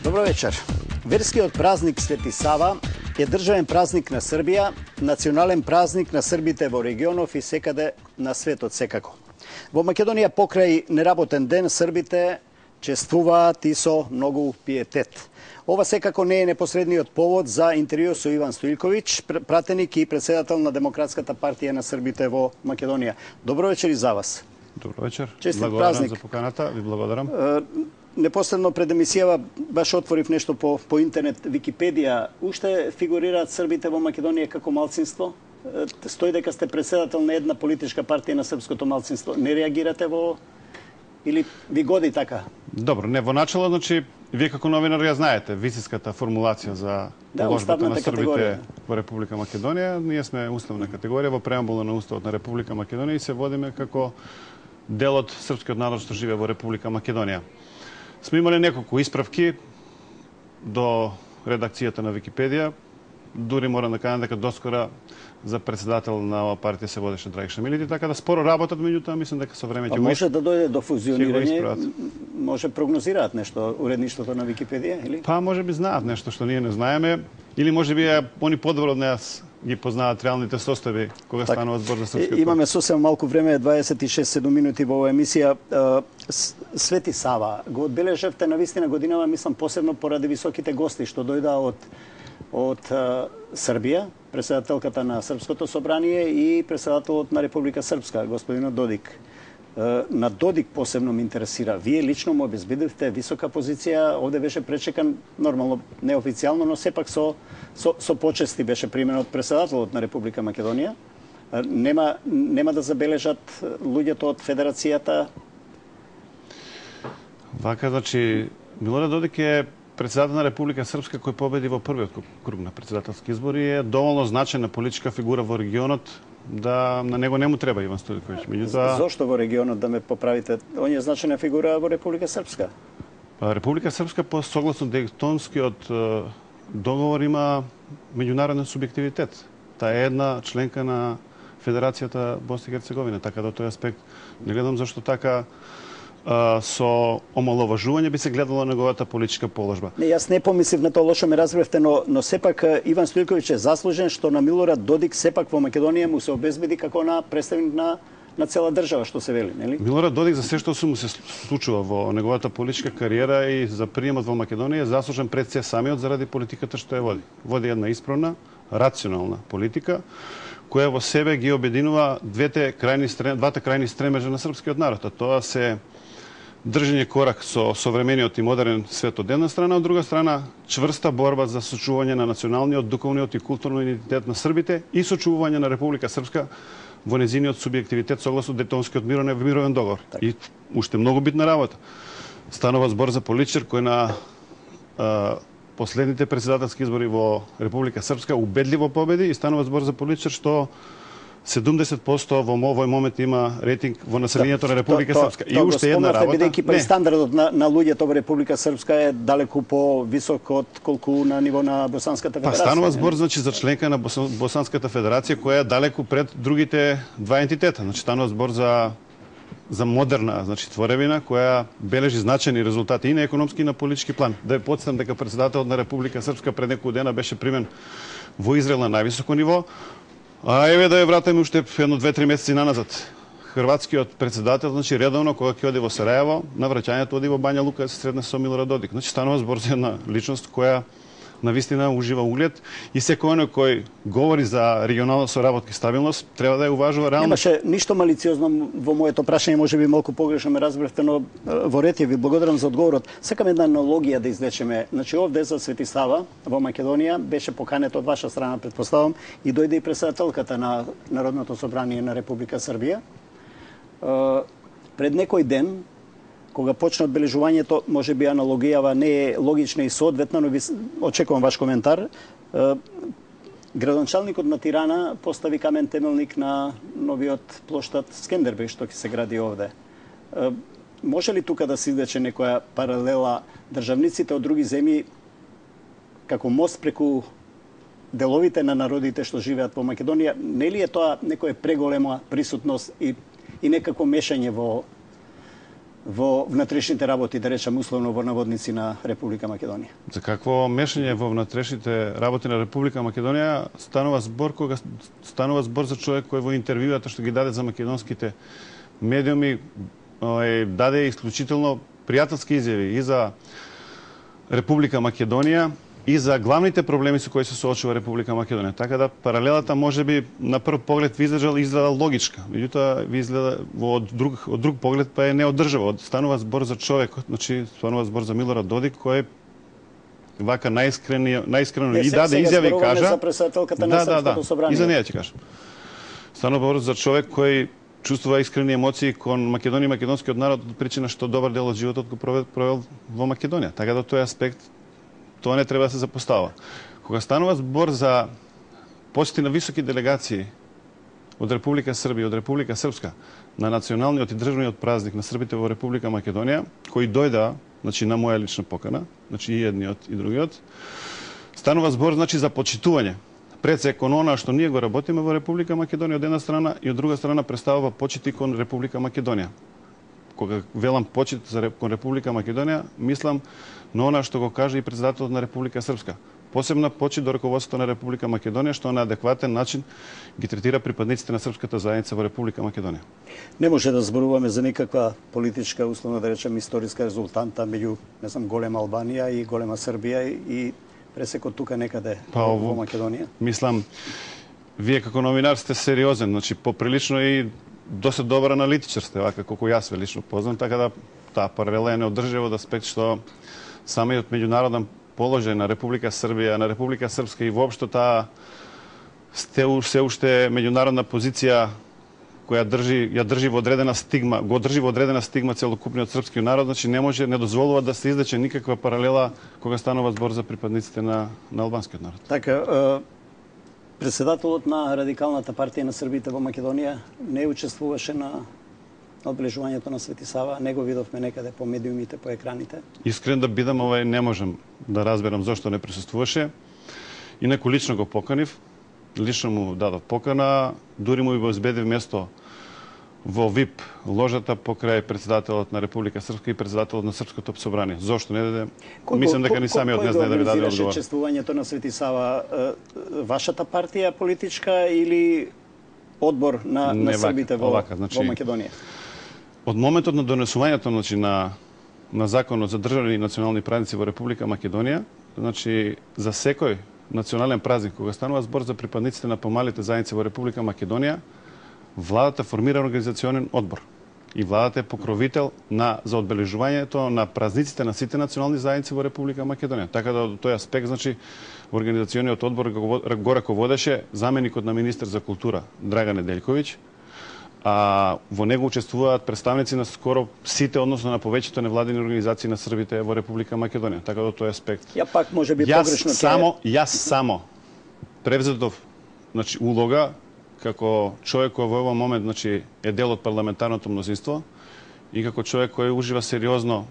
Добро вечер. Верскиот празник Свети Сава е државен празник на Србија, национален празник на србите во регионов и секаде на светот секако. Во Македонија покрај неработен ден србите чествуваат и со многу пиетет. Ова секако не е непосредниот повод за интервју со Иван Стоилковиќ, пратеник и председател на Демократската партија на србите во Македонија. Добро вечер и за вас. Добро вечер. Честит благодарам празник. За поканата, ви благодарам. Непосредно пред емисијава баш отворив нешто по интернет, Википедија. Уште фигурираат србите во Македонија како малцинство? Стои дека сте председател на една политичка партија на српското малцинство. Не реагирате во или ви годи така? Добро, не во начало, значи вие како новинар ја знаете висиската формулација за положбата на србите во Република Македонија. Ние сме уставна категорија во преамбула на Уставот на Република Македонија и се водиме како дел од српскиот народ што живее во Република Македонија. Сме имале неколку исправки до редакцијата на Википедија. Дури морам да кажам дека доскора за председател на оваа партија се водеше Драгиша Милити, така да споро работат, меѓутоа мислам дека со време ќе може да дојде до фузионирање, може прогнозираат нешто уредништвото на Википедија или? Па може би знаат нешто што ние не знаеме, или може би они подобро од нас ги познаат реалните состави кога станува збор за српскиот. Имаме сосем малку време, 26-7 минути во оваа емисија. Свети Сава го одбележавте на вистина годинава, мислам посебно поради високите гости што дојдаа од Србија, председателката на Српското собрание и председателот на Република Српска, господинот Додик. На Додик посебно ме интересира. Вие лично му обезбедивте висока позиција, овде беше пречекан, нормално, неофицијално, но сепак со почести беше примен од председателот на Република Македонија. Нема да забележат луѓето од Федерацијата? Вака, значи, Милорад Додик е председател на Република Српска кој победи во првиот круг на председателски избори, е доволно значајна политичка фигура во регионот, да на него не му треба Иван Стоилковиќ. Меѓутоа, зошто во регионот, да ме поправите? Он е значајна фигура во Република Српска. Република Српска по согласно Дејтонскиот договор има меѓународен субјективитет. Таа е една членка на Федерацијата Босна и Херцеговина, така да тој аспект не гледам зашто така со омаловажување би се гледало на неговата политичка положба. Не, јас не помислив на тоа, лошо ме разбревте, но сепак Иван Стоилковиќ е заслужен што на Милорад Додик сепак во Македонија му се обезбеди како на представник на цела држава, што се вели, нели? Милорад Додик за се што му се случува во неговата политичка кариера и за приемот во Македонија е заслужен пред се самиот заради политиката што ја води. Води една исправна, рационална политика која во себе ги обединува двата крајни стремежа на српскиот народ, а тоа се држење корак со современиот и модерен свет од една страна, од друга страна чврста борба за сочувување на националниот, духовниот и културниот идентитет на србите и сочувување на Република Српска во незиниот субјективитет согласно Дејтонскиот мировен договор. Так. И уште многу битна работа. Станува збор за политичар кој на последните председателски избори во Република Српска убедливо победи и станува збор за политичар што 70% во овој момент има рейтинг во населението на Република Српска. И уште една работа. Бидејќи па стандардот на луѓето во Република Српска е далеку по-висок од колку на ниво на Босанската федерација. Па станува збор значи за членка на Босанската федерација која е далеку пред другите два ентитета. Значи станува збор за модерна, значи творевина која бележи значајни резултати и на економски и на политички план. Да ја потсетам дека председателот на Република Српска пред неколку дена беше примен во Израел на највисоко ниво. А еве да ја вратиме уште едно 2-3 месеци наназад. Хрватскиот председател, значи редовно кога ќе оди во Сарајево, на враќањето оди во Бања Лука да се сретне со Милорад Додик. Значи станува збор за една личност која навистина ужива углед и секој оној кој говори за регионална соработка и стабилност треба да ја уважува реално. Немаше ништо малициозно во моето прашање, можеби малку погрешно ме разбравте, но во ред ви благодарам за одговорот. Сакам една аналогија да извлечеме. Значи овде за Свети Сава во Македонија беше поканет од ваша страна, претпоставам, и дојде и председателката на Народното собрание на Република Србија. Пред некој ден, кога почна одбележувањето, може би аналогијава не е логична и соодветна, но ви очекувам ваш коментар. Градоначалникот на Тирана постави камен темелник на новиот плоштад Скендербеј што ќе се гради овде. Може ли тука да се извлече некоја паралела државниците од други земји како мост преку деловите на народите што живеат во Македонија? Не ли е тоа некоја преголема присутност и некако мешање во во внатрешните работи, да речем условно во наводници на Република Македонија? За какво мешање во внатрешните работи на Република Македонија станува збор кога станува збор за човек кој во интервјуата што ги даде за македонските медиуми даде исклучително пријателски изјави и за Република Македонија и за главните проблеми со кои се соочува Република Македонија. Така да паралелата можеби на прв поглед ви изгледа логичка, меѓутоа ви изгледа од друг поглед па е неодржава. Станува збор за човек, значи станува збор за Милорад Додик кој вака најискрено и даде изјави и кажа. За претседателката на Српското собрание. И за неја ќе кажам. Станува збор за човек кој чувствува искрени емоции кон Македонија и македонскиот народ од причина што добар дел од животот го провел во Македонија. Така да тој аспект тоа не треба да се запостава. Кога станува збор за посети на високи делегации од Република Србија и од Република Српска на националниот и државниот празник на србите во Република Македонија, кои дојдаа, значи на моја лична покана, значи и едниот и другиот, станува збор значи за почитување пред се кон она што ние го работиме во Република Македонија од една страна и од друга страна представува почит и кон Република Македонија. Кога велам почит кон Република Македонија, мислам на она што го кажа и претседателот на Република Српска. Посебна почит до раководството на Република Македонија, што на адекватен начин ги третира припадниците на српската заедница во Република Македонија. Не може да зборуваме за никаква политичка, условно да речем, историска резултанта меѓу, не знам, голема Албанија и голема Србија и пресекот тука некаде во Македонија. Мислам, вие како новинар сте сериозен, значи поприлично и доста добар аналитичар сте, вака колку јас ве лично познам, така да таа паралела е неодржива од аспект што самиот меѓународен положај на Република Србија, на Република Српска и воопшто таа се уште меѓународна позиција која ја држи во одредена стигма, го држи во одредена стигма целокупниот српски народ, значи не дозволува да се издече никаква паралела кога станува збор за припадниците на албанскиот народ. Така, председателот на Радикалната партија на Србите во Македонија не учествуваше на одбележувањето на Свети Сава, не го видовме некаде по медиумите, по екраните. Искрен да бидам, не можам да разберам зошто не присуствуваше. Инаку лично го поканив, лично му дадов покана, дури му и обезбедив место во ВИП ложата покрај председателот на Република Српска и председателот на Српското собрание. Зошто не даде? Мислам дека ни самиот не знае да ви даде одговор. Кој чествувањето на Свети Сава? Вашата партија политичка или одбор на србите во Македонија? Од моментот на донесувањето на законот за државни и национални празници во Република Македонија, значи за секој национален празник кога станува збор за припадниците на помалите заедници во Република Македонија, владата формира организационен одбор и владата е покровител за одбележувањето на празниците на сите национални заедници во Република Македонија. Така да од тој аспект, значи, организациониот одбор го раководеше заменикот на министер за култура Драган Неделјковиќ, а во него учествуваат представници на скоро сите, односно на повеќето невладини организации на србите во Република Македонија. Така да од тој аспект. Пак можеби погрешно Јас само превзетов, значи, улога како човек кој во овој момент, значи, е дел од парламентарното мнозинство и како човек кој ужива сериозно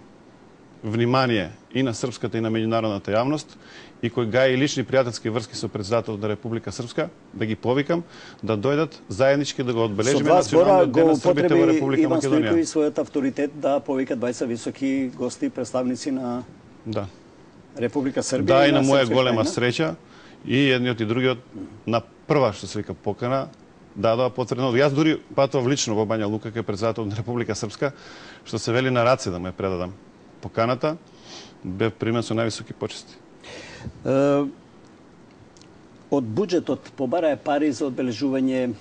внимание и на српската и на меѓународната јавност и кој гаи лични пријателски врски со председателот на Република Српска, да ги повикам да дојдат заеднички да го одбележиме националниот ден на србите во Република Македонија. Иван Стојковиќ својот авторитет да повика 20 високи гости, представници на Република Србија. Да, и на моја голема среќа и едниот и другиот на прва што се вика покана дадоа потврдено. Јас дури патував лично во Бања Лука кај председателот на Република Српска, што се вели на раце да му ја предадам поканата, бев примен со највисоки почести. Од буџетот побарае пари за одбележување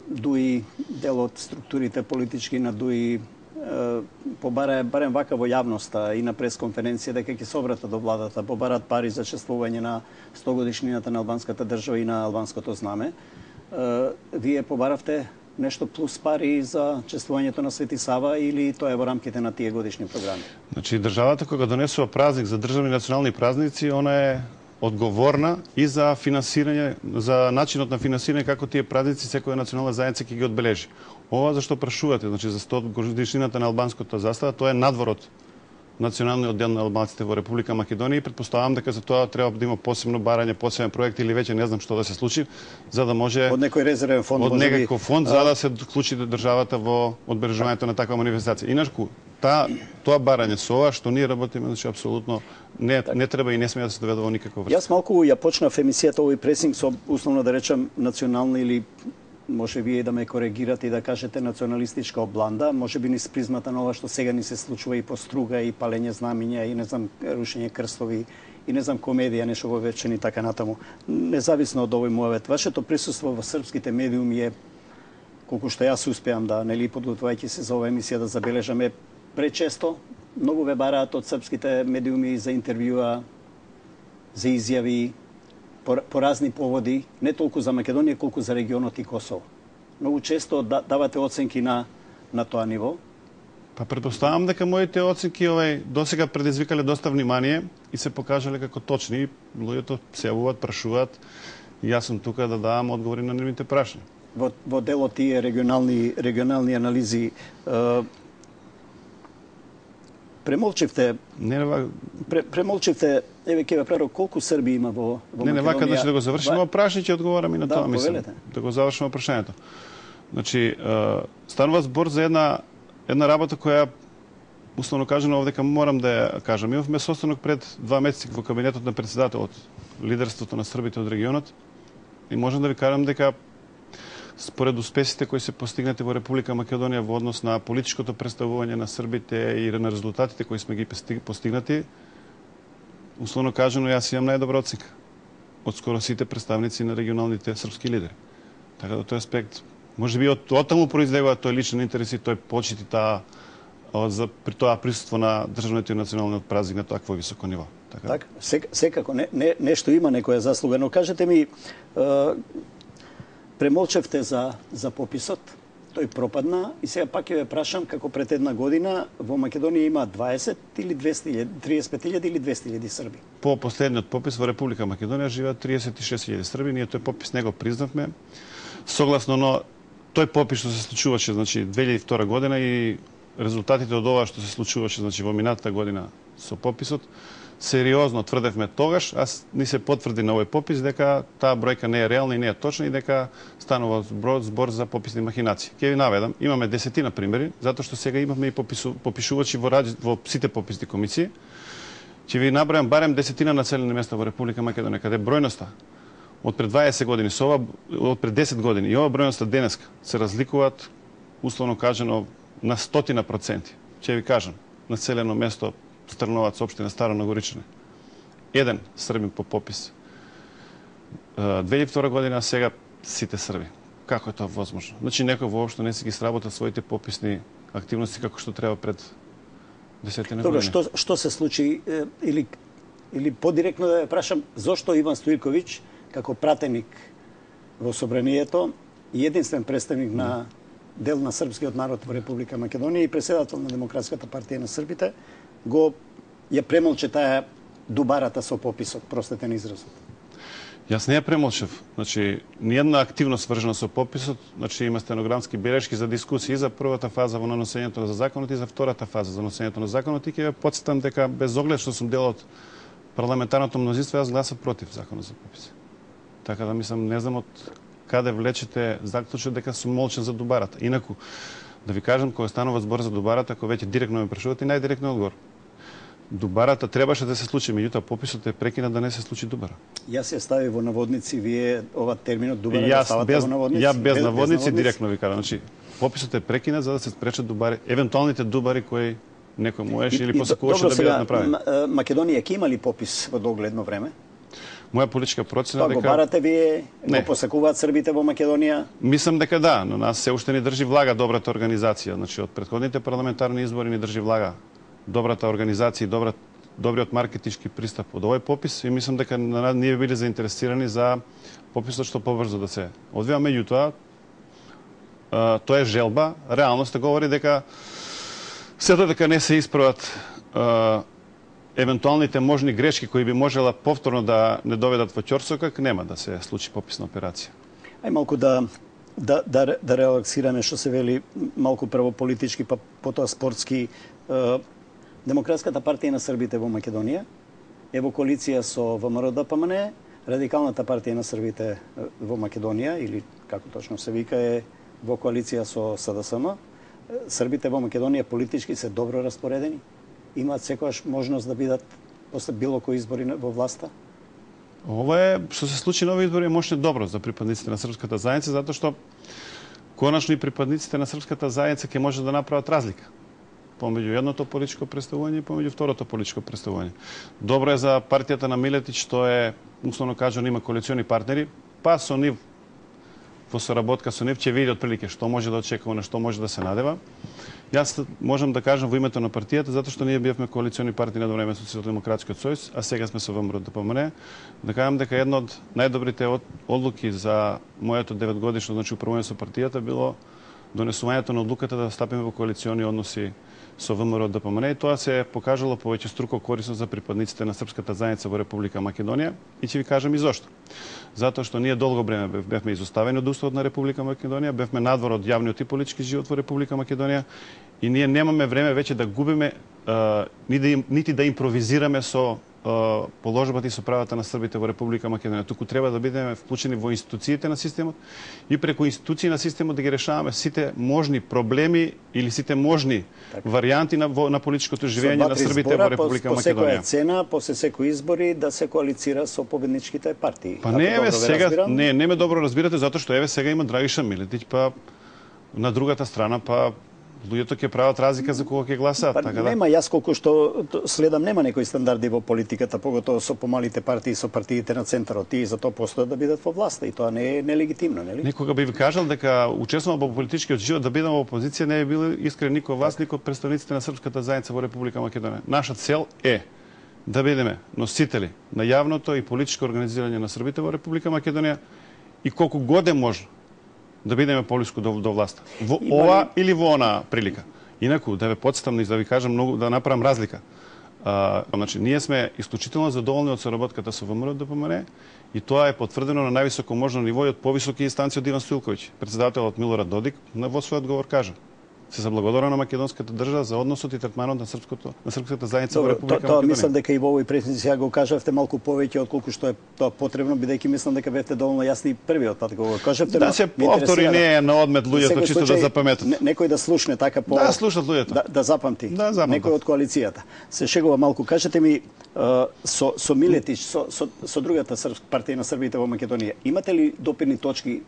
дуи дел од структурите политички на дуи побарае барем вака во јавноста и на пресконференција дека ќе се обрата до владата, побараат пари за чествување на 100 годишнината на албанската држава и на албанското знаме. Вие побаравте нешто плюс пари за чествувањето на Свети Сава или тоа е во рамките на тие годишни програми? Значи, државата кога донесува празник за државни национални празници, она е одговорна и за финансирање, за начинот на финансирање како тие празници секоја национална заедница ќе ги одбележи. Ова зашто прашувате, значи за 100 годишнината на албанската застава, тоа е надвор од националниот ден на албанците во Република Македонија и претпоставам дека за тоа треба да има посебно барање, посебен проект или веќе не знам што да се случи, за да може од некој резервен фонд, од некој фонд за да се вклучи државата во одбележувањето на таква манифестација. Иначку тоа барање со ова што ние работиме, значи апсолутно не треба и не сме да се доведе во никаква врска. Јас малку ја почнав емисијата овој пресинг со условно да речам национална или може вие да ме коригирате и да кажете националистичка обланда, може би низ призмата на ова што сега ни се случува и по струга и палење знамиња и не знам рушење крстови и не знам комедија, нешто во вечен и така натаму. Независно од овој муавет, вашето присуство во српските медиуми е, колку што јас успеам да, нели, подготвувајќи се за оваа емисија, да забележаме пречесто. Многу ве бараат од српските медиуми за интервјуа, за изјави, по разни поводи, не толку за Македонија, колку за регионот и Косово. Многу често давате оценки на тоа ниво. Па претпоставам дека моите оценки досега предизвикале доста внимание и се покажале како точни. Луѓето се јавуваат, прашуваат и јас сум тука да давам одговори на нивните прашања. Во делот тие регионални анализи премолчивте, еве ќе ве прашам колку срби има во Македонија. Не, вака да го завршиме прашање, ќе одговорам и на тоа, мислам. Да го завршиме прашањето. Значи, станува збор за една работа која, условно кажано, овдека морам да ја кажам. Имавме состанок пред 2 месеци во кабинетот на председателот, лидерството на србите од регионот, и можам да ви кажам дека според успесите кои се постигнати во Република Македонија во однос на политичкото представување на србите и на резултатите кои сме ги постигнати, условно кажано, јас имам најдобра оценка од скоро сите представници на регионалните српски лидери. Така да тој аспект, може би од таму произлегува тој личен интерес и тој почит и при тоа присуство на државниот и националниот празник на такво високо ниво. Така, секако, нешто има некоја заслуга, но кажете ми, премолчевте за пописот, тој пропадна и сега пак ќе ве прашам како пред една година во Македонија има 20 или 35.000 или 200.000 срби. По последниот попис во Република Македонија живеат 36.000 срби, ние тој попис не го признавме. Согласно но тој попис што се случуваше, значи 2002 година и резултатите од ова што се случуваше, значи во минатата година со пописот, сериозно тврдевме тогаш, ни се потврди на овој попис дека таа бројка не е реална и не е точна и дека станува збор за пописни махинации. Ќе ви наведам, имаме 10 примери, затоа што сега имаме и попишувачи во сите пописни комисии. Ќе ви набројам барем 10 населени места во Република Македонија каде бројноста од пред 20 години со ова од пред 10 години и ова бројноста денеска се разликуваат условно кажано на 100%. Ќе ви кажам, населено место Стрновац, општина Старо Нагоричане. 1 србин по попис. 2002 година, сега сите срби. Како е тоа возможно? Значи некој воопшто не си ги сработа своите пописни активности како што треба пред 10 години. Добро, што се случи или подиректно да ја прашам, зошто Иван Стојковиќ како пратеник во собранието и единствен представник на дел на српскиот народ во Република Македонија и председател на Демократската партија на србите ја премолче таа дубарата со пописот, простете на изразот. Јас не ја премолчев. Значи, ниједна активност врзана со пописот, значи има стенограмски белешки за дискусии за првата фаза во наносењето на законот и за втората фаза за наносењето на законот и ќе ја потсетам дека без оглед што сум дел од парламентарното мнозинство, јас гласав против законот за попис. Така да мислам, не знам од каде влечете заклучок дека сум молчен за дубарата. Инаку, да ви кажам, кога станува збор за дубарата, кога веќе директно ме прашувате, најдиректно одговор. Дубарата требаше да се случи, меѓутоа пописот е прекина да не се случи дубара. Јас ја стави во наводници, вие ова терминот дубара да ставате во наводници? Ја без наводници директно ви кажам. Значи, пописот е прекина за да се спречат дубари, евентуалните дубари кои некој можеше или посакуваше да бидат направени. Македонија ќе има ли попис во догледно време? Моја политичка процена дека го барате вие, го посакуваат србите во Македонија? Мислам дека да, но нас се уште ни држи влага добрата организација. Значи од претходните парламентарни избори ни држи влага добрата организација и добриот маркетички пристап од овој попис и мислам дека ние биле заинтересирани за пописот што побрзо да се одвива. Меѓутоа, тоа е желба, реалноста говори дека сето дека не се исправат евентуалните можни грешки кои би можела повторно да не доведат во ќорсокак, нема да се случи пописна операција. Ај малку да релаксираме што се вели, малку прво политички, па потоа спортски. Демократската партија на србите во Македонија е во коалиција со ВМРО-ДПМН, Радикалната партија на србите во Македонија, или како точно се вика, е во коалиција со СДСМ, Србите во Македонија политички се добро распоредени? Имаат секогаш можност да бидат после било кои избори во власта? Ова е, што се случи на овие избори, е мощно добро за припадниците на српската заедница, затоа што конечно и припадниците на српската заедница ќе може да направат разлика помеѓу едното политичко претставување и помеѓу второто политичко претставување. Добро е за партијата на Милетич, што е, условно кажано, има коалициони партнери, па со нив, во соработка со нив, ќе види отприлике што може да очекува, на што може да се надева. Јас можам да кажам во името на партијата, затоа што ние бевме коалициони партии на време со Социјалдемократскиот сојуз, а сега сме со ВМРО ДПМН, да кажам дека една од најдобрите одлуки за моето 9-годишно, значи управување со партијата, било донесувањето на одлуката да стапиме во коалициони односи со ВМРО ДПМН, и тоа се покажало повеќе струко корисно за припадниците на српската заедница во Република Македонија, и ќе ви кажам и зошто. Затоа што ние долго време бевме изоставени од уставот на Република Македонија, бевме надвор од јавниот и политички живот во Република Македонија, и ние немаме време веќе да губиме нити да импровизираме со положбата и со правата на србите во Република Македонија. Туку треба да бидеме вклучени во институциите на системот и преку институции на системот да ги решаваме сите можни проблеми или сите можни варијанти на политичкото живење на србите во Република Македонија. По секоја цена, после секои избори да се коалицира со победничките партии. Па не еве сега, не ме добро разбирате, затоа што еве сега има Драгиша Милетич, па на другата страна па луѓето ќе прават разлика за кого ќе гласаат, така да. Нема, јас колку што следам, нема некои стандарди во политиката, поготово со помалите партии, со партиите на центарот, и затоа постојат да бидат во власта, и тоа не е нелегитимно, нели? Некога би ви кажал дека учествувам во политичкиот живот, да бидам во опозиција, не би бил искрен никој вас, никој представниците на српската заедница во Република Македонија. Наша цел е да бидеме носители на јавното и политичко организирање на србите во Република Македонија и колку год е можно да бидеме поблиску до власта. Во ова или во она прилика. Инаку, да ве подстам и да ви кажам многу, да направам разлика. Значи, ние сме исклучително задоволни од соработката со ВМРО ДПМН и тоа е потврдено на највисоко можно ниво и од повисоки инстанции од Иван Стоилковиќ. Председателот Милорад Додик во својот одговор кажа: се заблагодарува на македонската држава за односот и третманот на српската заедница во Република Македонија. Тоа мислам дека и во овој претенција сега го кажавте малку повеќе отколку што е тоа потребно, бидејќи мислам дека бевте доволно јасни првиот пат го кажавте. Да се повтори не е на одмет луѓето чисто да запаметат. Некој да слушне така по Да слушат луѓето. Да запамти. Да, некој од коалицијата. Се шегува малку. Кажете ми со Милетич, со другата партија на србите во Македонија, имате ли допирни точки,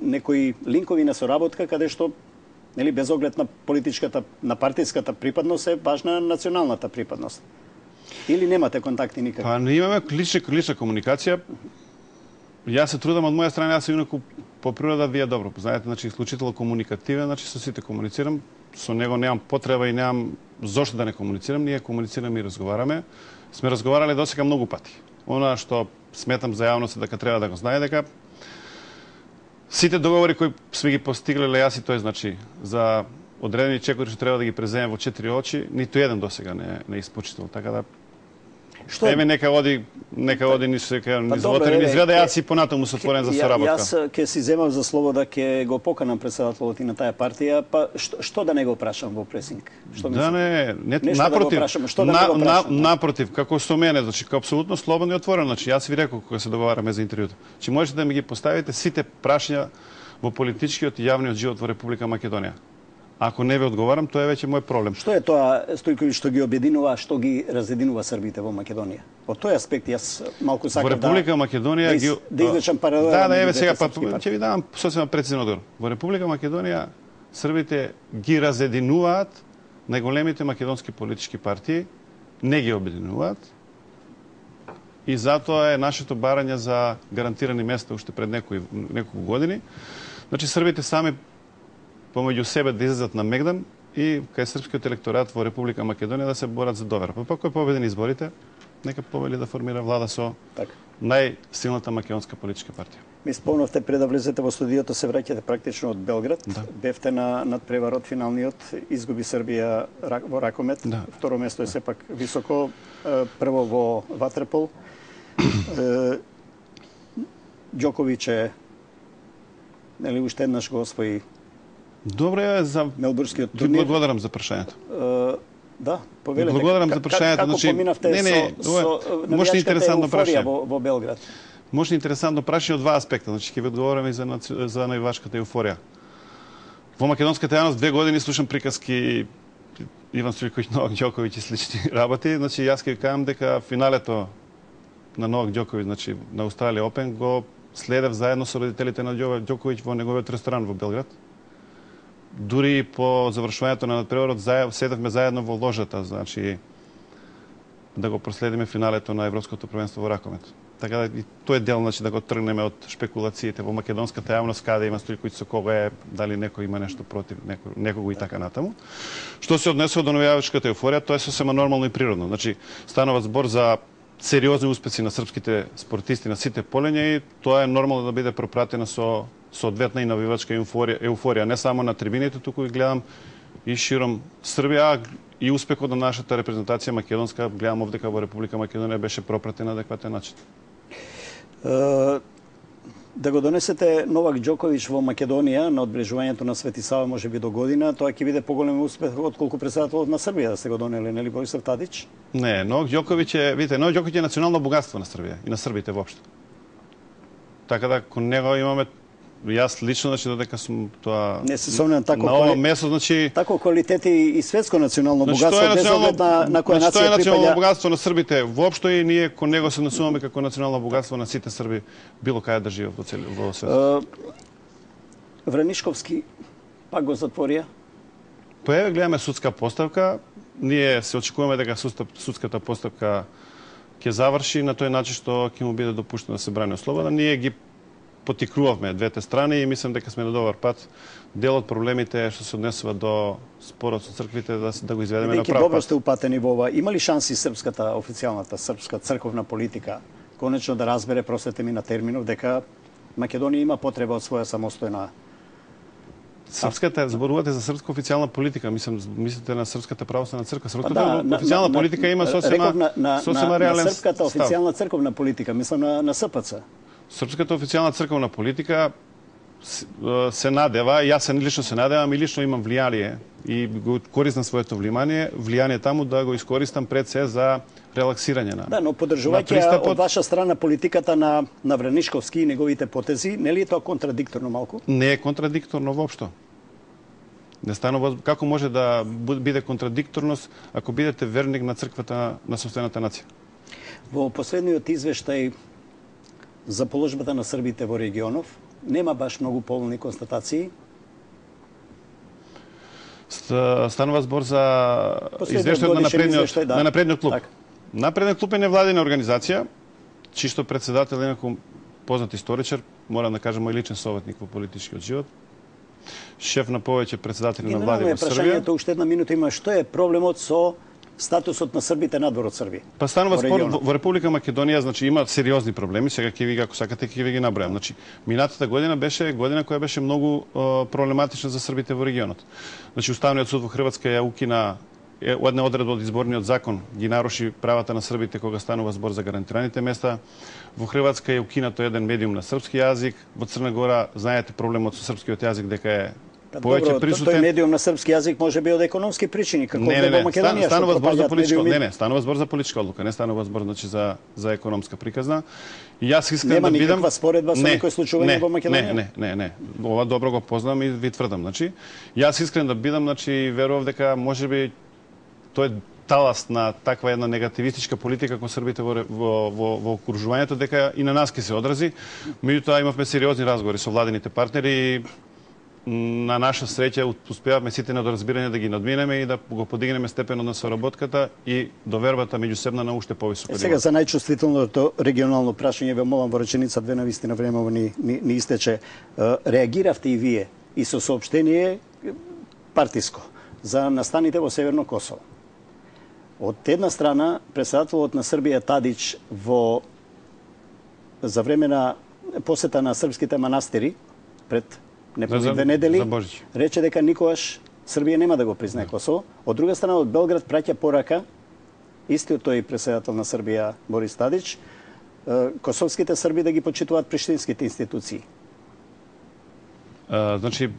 некои линкови на соработка каде што, нели, без оглед на политичката, на партиската припадност е важна националната припадност? Или немате контакти никакви? Па не имаме лична комуникација. Јас се трудам од моја страна, јас инаку по природа вие добро познаете, значи исклучително комуникативен, значи со сите комуницирам, со него немам потреба и немам зошто да не комуницирам, ние комуницираме и разговараме. Сме разговарале досега многу пати. Она што сметам за јавност дека треба да го знае, дека сите договори кои сме ги постиглеле јас и тој, значи, за одредени чекори што треба да ги преземем во 4 очи, ниту еден досега не испочител. Така да еве нека оди ни се низвотери низ реда, јас и понатаму сум отворен за соработка. Јас ќе си земам за слово да ќе го поканам председателот и на таа партија, па што да не го прашам во пресинг? Што да не, напротив, како со мене, значи како апсолутно слободно и отворено, значи јас ви реков кога се договараме за интервјуто. Че можете да ми ги поставите сите прашања во политичкиот и јавниот живот во Република Македонија. Ако не ви одговарам, тоа е веќе мој проблем. Што е тоа, Стојковиќ, што ги обединува, што ги разединува србите во Македонија? Од тој аспект јас малку сакам во Република Македонија да извлечам паралела. Да, еве сега ќе ви дам сосема прецизен одговор. Во Република Македонија србите ги разединуваат најголемите македонски политички партии, не ги обединуваат. И затоа е нашето барање за гарантирани места уште пред неколку години. Значи србите сами помеѓу себе да излезат на мегдан и кај српскиот електорат во Република Македонија да се борат за довера. Па кој победи на изборите, нека победи да формира влада со најсилната македонска политичка партија. Ми спомнавте пред да влезете во студиото, се враќате практично од Белград. Да. Бевте на надпреварот финалниот, изгуби Србија во ракомет. Да. Второ место е сепак високо, прво во ватерпол. Ѓоковиќ е, нели, уште еднаш го освои. Добре е за мелбурнскиот турнир. Благодарам за прашањето. Да, повелете. Благодарам за прашањето. Како поминавте со може интересантно прашање во Белград? Може интересантно прашање од два аспекта. Значи ќе ви одговорам и за највашката еуфорија. Во македонската јавност 2 години слушам приказки Иван Стојковиќ, Новак Ѓоковиќ и слични работи. Значи, јас ќе кажам дека финалето на Новак Ѓоковиќ, значи на Австралија Опен, го следев заедно со родителите на Ѓоковиќ во неговиот ресторан во Белград. Дури по завршувањето на надпреварот седевме заедно во ложата, значи да го проследиме финалето на Европското првенство во ракомет. Така да и тој дел, значи да го тргнеме од шпекулациите во македонската јавност, каде има Стојковиќ, со кого е, дали некој има нешто против некого и така натаму. Што се однесува до навијачката еуфорија, тоа е сосема нормално и природно. Значи станува збор за сериозни успеси на српските спортисти на сите полења и тоа е нормално да биде пропратено со соодветна и навивачка еуфорија, не само на трибините, туку и гледам и широм Србија, и успехот на нашата репрезентација македонска, гледам овдека во Република Македонија беше пропратен на адекватен начин. Да го донесете Новак Ѓоковиќ во Македонија на одбележувањето на Свети Сава можеби до година, тоа ќе биде поголем успех отколку председателот на Србија да сте го донели, нели Борисов Тадич? Не, Новак Ѓоковиќ е, видите, Новак Ѓоковиќ е национално богатство на Србија и на србите воопшто. Така да кон него имаме јас лично, значи, додека сум тоа... Не се сомнам тако... На ова место, значи... Тако квалитети и светско национално богатство, без оглед на која нација припаѓа... Тоа е национално богатство на србите воопшто и ние кон него се однесуваме како национално богатство на сите срби, било каде да живеат во светот. Вранишковски пак го затворија? Па еве гледаме судска поставка. Ние се очекуваме дека судската поставка ќе заврши на тој начин што ќе му биде допуштено да се брани слобода. Ние ги потикнувавме двете страни и мислам дека сме на добар пат. Дел од проблемите што се однесува до спорот со црквите да го изведеме на прав пат. Добро сте упатени во ова. Има ли шанси српската официјалната српска црковна политика конечно да разбере, простете ми на терминов, дека Македонија има потреба од своја самостојна... Српската, зборувате за српска официјална политика, мислите на Српската православна црква. Српската официјална политика има сосема реален став. Српската официјална црковна политика, мислам на СПЦ. Српската официјална црковна политика се надева, јас лично се надевам и лично имам влијание и го користам своето влијание таму да го искористам пред се за релаксирање на... Да, но поддржувајќи од ваша страна политиката на Вранишковски и неговите потези, нели е тоа контрадикторно малку? Не е контрадикторно воопшто. Не станува, како може да биде контрадикторност ако бидете верник на црквата на сопствената нација? Во последниот извештај за положбата на србите во регионов, нема баш многу полни констатации. Станува збор за извештајот на напредниот клуб. Напредниот клуб е невладина организација, чисто председател е некој познат историчар, морам да кажам мој личен советник во политичкиот живот. Шеф на повеќе председатели на влади во Србија. Прашањето уште една минута има, што е проблемот со статусот на србите надвор од Србија? Па станува спор во Република Македонија, значи има сериозни проблеми, сега ќе ви ако сакате ќе ви ги набројам. Значи минатата година беше година која беше многу проблематична за србите во регионот. Значи Уставниот суд во Хрватска ја укина една одредба од изборниот закон, ги наруши правата на србите кога станува збор за гарантираните места. Во Хрватска е укинато еден медиум на српски јазик, во Црна Гора знаете проблемот со српскиот јазик дека е повеќе присутен. Тој медиум на српски јазик може би од економски причини, како во Македонија. Станува збор за политичка, станува збор за политичка одлука, не станува збор значи за економска приказна. И јас искрено да видам никаква споредба со некои случувања во Македонија. Не. Ова добро го познам и ви тврдам, значи јас искрено да бидам, значи верувам дека можеби тој е талас на таква една негативистичка политика кон србите во окружувањето, дека и на нас ќе се одрази. Меѓутоа имавме сериозни разговори со владините партнери и на наша среќа успеавме сите на доразбирање да ги надминеме и да го подигнеме степенот на соработката и довербата меѓусебна на уште повисоко ниво. Сега за најчувствителното регионално прашање ве молам во реченица две, навистина времево ни истече. Реагиравте и вие и со соопштение партиско за настаните во Северно Косово. Од една страна, председателот на Србија Тадич за време на посета на српските манастири пред неполни 2 недели рече дека никогаш Србија нема да го признае Косово. Од друга страна, од Белград праќа порака истиот тој председател на Србија Борис Тадич, косовските срби да ги почитуваат приштинските институции. Значи,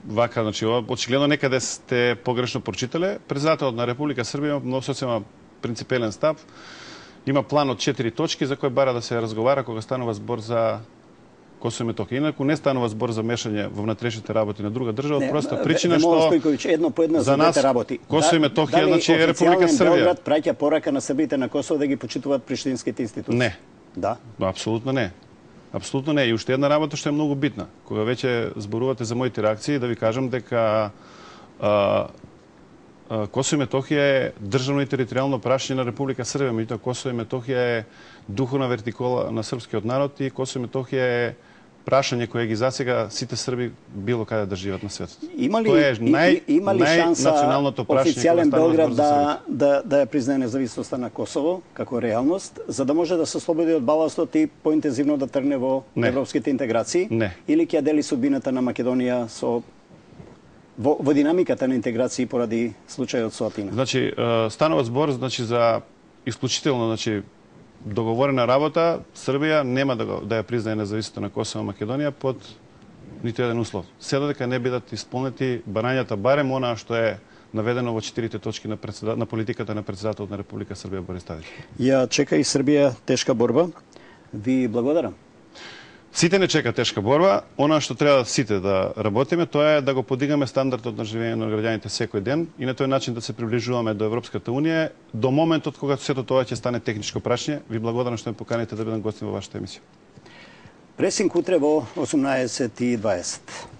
очигледно некаде сте погрешно прочитале. Председателот на Република Србија има сосема принципелен став. Има план од 4 точки за кои бара да се разговара кога станува збор за Косово и Метохија. Инаку не станува збор за мешање во внатрешните работи на друга држава, од проста причина што Стојковиќ, едно по едно за двете работи. Косово и Метохија значи е Република Србија. Белград праќа порака на србите на Косово да ги почитуваат приштинските институции? Не. Да. Апсолутно не. Апсолутно не. И уште една работа што е многу битна. Кога веќе зборувате за моите реакции, да ви кажам дека Косово и Метохија е државно и територијално прашање на Република Србија, меѓутоа Косово и Метохија е духовна вертикола на српскиот народ и Косово и Метохија е прашање кое ги засега сите срби било каде да живеат на светот. Има ли шанса официјален Белград да ја признае независноста на Косово како реалност, за да може да се ослободи од баластот и поинтензивно да тргне во европските интеграции? Не. Или ќе ја дели судбината на Македонија во динамиката на интеграции поради случајот со Атина? Значи, станува збор за исклучително договорена работа. Србија нема да ја признае независноста на Косово и Македонија под ниту еден услов. Се додека не бидат исполнети барањата, барем она што е наведено во 4 точки на политиката на претседателот на Република Србија Борис Тадич. Ја чека и Србија тешка борба. Ви благодарам. Сите не чека тешка борба. Она што треба сите да работиме, тоа е да го подигаме стандардот на живење на граѓаните секој ден и на тој начин да се приближуваме до Европската унија до моментот кога сето тоа ќе стане техничко прашање. Ви благодарам што ме поканите да бидам гостин во вашата емисија. Пресинг утре во 18:20.